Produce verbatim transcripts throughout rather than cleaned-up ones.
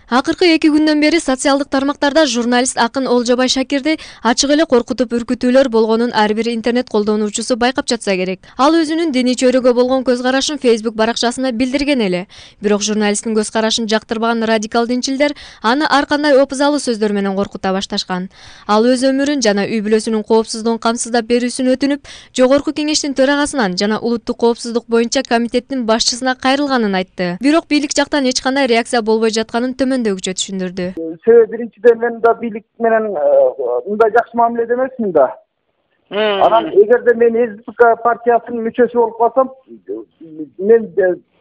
Акыркы эки күндөн бери социалдык тармактарда журналист акын Олжобай Шакирди ачык эле коркутуп үркүтүүлөр болгонун ар бир интернет колдонуучусу байкап жатса керек. Ал өзүнүн диний чөйрөгө болгон көз карашын Facebook баракчасына билдирген эле. Бирок журналисттин көз карашын жактырбаган радикал динчилдер аны ар кандай опузалуу сөздөр менен коркута башташкан. Ал өз өмүрүн жана үй бүлөсүнүн коопсуздугун камсыздап берүүсүн өтүнүп, Жогорку Кеңештин төрагасынан жана Улуттук коопсуздук боюнча комитеттин башчысына кайрылганын айтты. Бирок бийлик жактан эч кандай реакция болбой жатканын төмөндөгүчө түшүндүрдү. Себеби биринчиден мен да бийлик менен мындай жакшы мамиледе эмесмин да. Анан эгерде мен СДП партиясынын мүчөсү болуп калсам, мен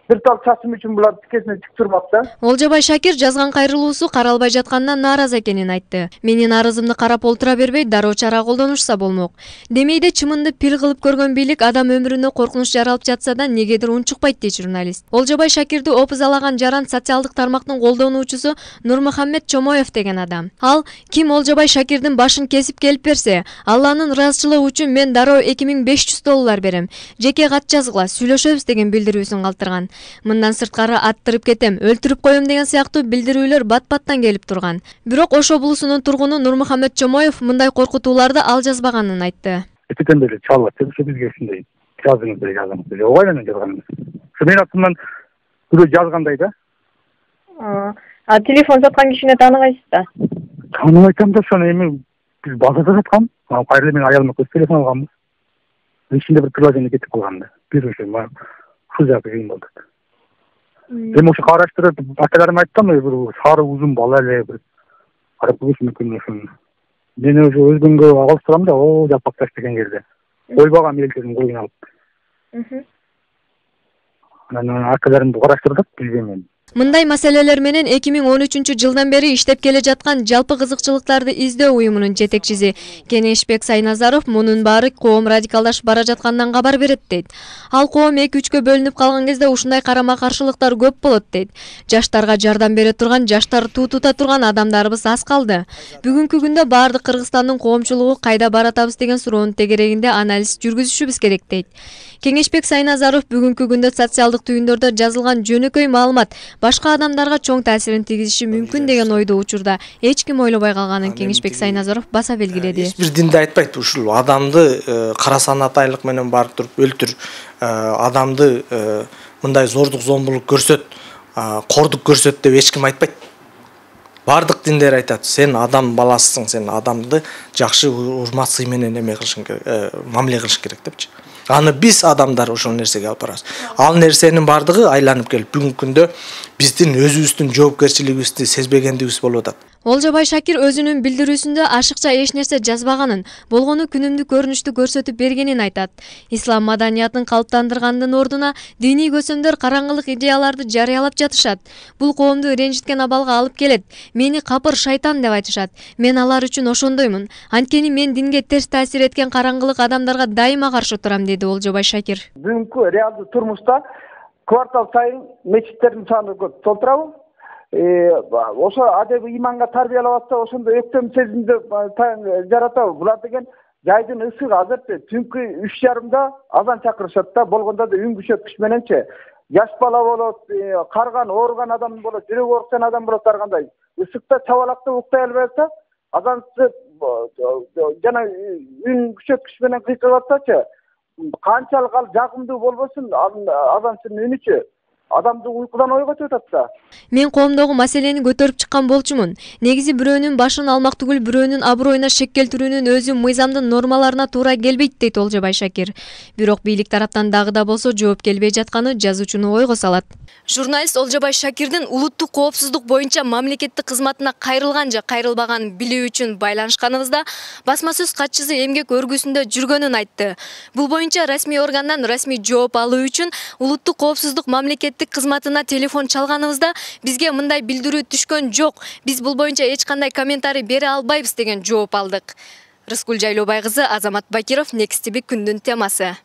бир тал чачым үчүн булар тикесине тик турмак да. Олжобай Шакир жазган кайрылуусу каралбай жатканынан нааразы экенин айтты. Менин арызымды карап олтура бербей, дароо чара колдонушса болмок. Демейде чымынды пил кылып көргөн бийлик адам өмүрүнө коркунуч жаралып жатса да негедир унчукпайт дейт журналист. Олжобай Шакирди опузалаган жаран социалдык тармактын колдонуучусу Нурмухаммед Чомоев деген адам. Ал ким Олжобай Шакирдин башын кесип келип берсе, Алланын ыраазычылыгы үчүн мен дароо эки миң беш жүз доллар берем. Жеке кат жазгыла, сүйлөшөбүз деген билдирүүсүн калтырган. Мындан сырткары аттырып кетем, өлтүрүп коем деген сыяктуу билдирүүлөр бат-баттан келип турган. Бирок Ошо булусунун тургуну Нурмухаммед Чомоев мындай коркутууларды ал жазбаганын айтты. Этикен деле чалып, бизге ушундай жазыңыз деп жазамыз. Ооба менен жазганбыз. Ушу менин атымдан бирөө жазгандай да. А телефон саткан кишини тааныгайсыз да? Тааныбайм да, ошону эми биз базарда саткан. Кайра мен аялыма көз телефон алганбыз. Ичинде бир приложение кетип калган да. Бир ошо ушул жагы кыйын болду. Эми ошо караштырып, акаларым айткан, бир сары узун бала эле бир карап көрүш мүмкүн ошону. Мен уже өзгөнгө алыштырам да, о жапакташ деген жерде. Койбаган элдердин коюн алып. Анан акаларымды караштырдык, билбейм. Мындай маселелер менен эки миң он үчүнчү жылдан бери иштеп келе жаткан жалпы кызыкчылыктарды издөө уюмунун жетекчиси Кенешбек Сайназаров мунун баары коом радикалдашып бара жаткандан кабар берет дейт. Ал коом эки үчкө бөлүнүп калган кезде ушундай карама-каршылыктар көп болот дейт. Жаштарга жардам бере турган, жаштар туу тута турган адамдарыбыз аз калды. Бүгүнкү күндө баардык Кыргызстандын коомчулугу кайда баратабыз деген суроонун тегерегинде анализ жүргүзүшүбүз керек дейт. Кенешбек Сайназаров бүгүнкү күндө социалдык түйүндөрдө жазылган жөнөкөй маалымат башка адамдарга чоң таасирин тийгизиши мүмкүн деген ойду учурда эч ким ойлобой калганын Кенешбек Сайназаров баса белгиледи. Эч бир динде айтпайт ушул адамды кара санатайлык менен барып туруп өлтүр, адамды мындай зордук зомбулук көрсөт, кордук көрсөт деп эч ким айтпайт. Бардык диндер айтат, сен адам баласысың, сен адамды жакшы урмат сый менен эме кылышың керек, мамиле кылыш керек депчи. Аны биз адамдар ошол нерсеге алып барабыз. Ал нерсенин бардыгы айланып келип бүгүнкү күндө биздин өзүбүздүн жоопкерчилигибизди сезбегендигибиз болуп атат. Олжобай Шакир өзүнүн билдирүүсүндө ашыкча эч нерсе жазбаганын, болгону күнүмдүк көрүнүштү көрсөтүп бергенин айтат. Ислам маданиятын калыптандыргандын ордуна диний көсөмдөр караңгылык идеяларды жарыялап жатышат. Бул коомду ренжиткен абалга алып келет. Мени капыр шайтан деп айтышат. Мен алар үчүн ошондоймун. Анткени мен динге терс таасир эткен караңгылык адамдарга дайыма каршы турам, деди Олжобай Шакир. Бүгүнкү реалдуу турмушта квартал сайын мечиттердин саны көп. Толтурабы? Ошо адеби иманга тарбиялап атса, ошондо өктөм сезимди жаратабы. Булар деген жайдын ысыгы азыр түнкү үч жарымда азан чакырышат да, болгондо да үн күчөткүч мененчи. Жаш бала болот, карган, ооруган адам болот, жүрөгү ооруксан адам болот, ар кандай. Ысыкта чабалакта уктай албай атса, азанчы жана үн күчөткүч менен кыйкырып атсачы, канчалык ал жагымдуу болбосун, азанчынын үнүчү адамды уйкудан ойготуп атат да. Мен коомдогу маселени көтөрүп чыккан болчумун. Негизи бирөөнүн башын алмак түгүл бирөөнүн аброюна шек келтирүүнүн өзү мыйзамдын нормаларына туура келбейт, дейт Олжобай Шакир. Бирок бийлик тараптан дагы да болсо жооп келбей жатканы жазуучуну ойго салат. Журналист Олжобай Шакирдин улуттук коопсуздук боюнча мамлекеттик кызматына кайрылган же кайрылбаганын билүү үчүн байланышканыбызда басма сөз катчысы эмгек өргүсүндө жүргөнүн айтты. Бул боюнча расмий органдан расмий жооп алуу үчүн улуттук коопсуздук мамлекеттик кызматына телефон чалганыбызда бизге мындай билдирүү түшкөн жок. Биз бул боюнча эч кандай комментарий бере албайбыз деген жооп алдык. Рыскүл Жайлообай кызы, Азамат Бакиров, Next T V күндүн темасы.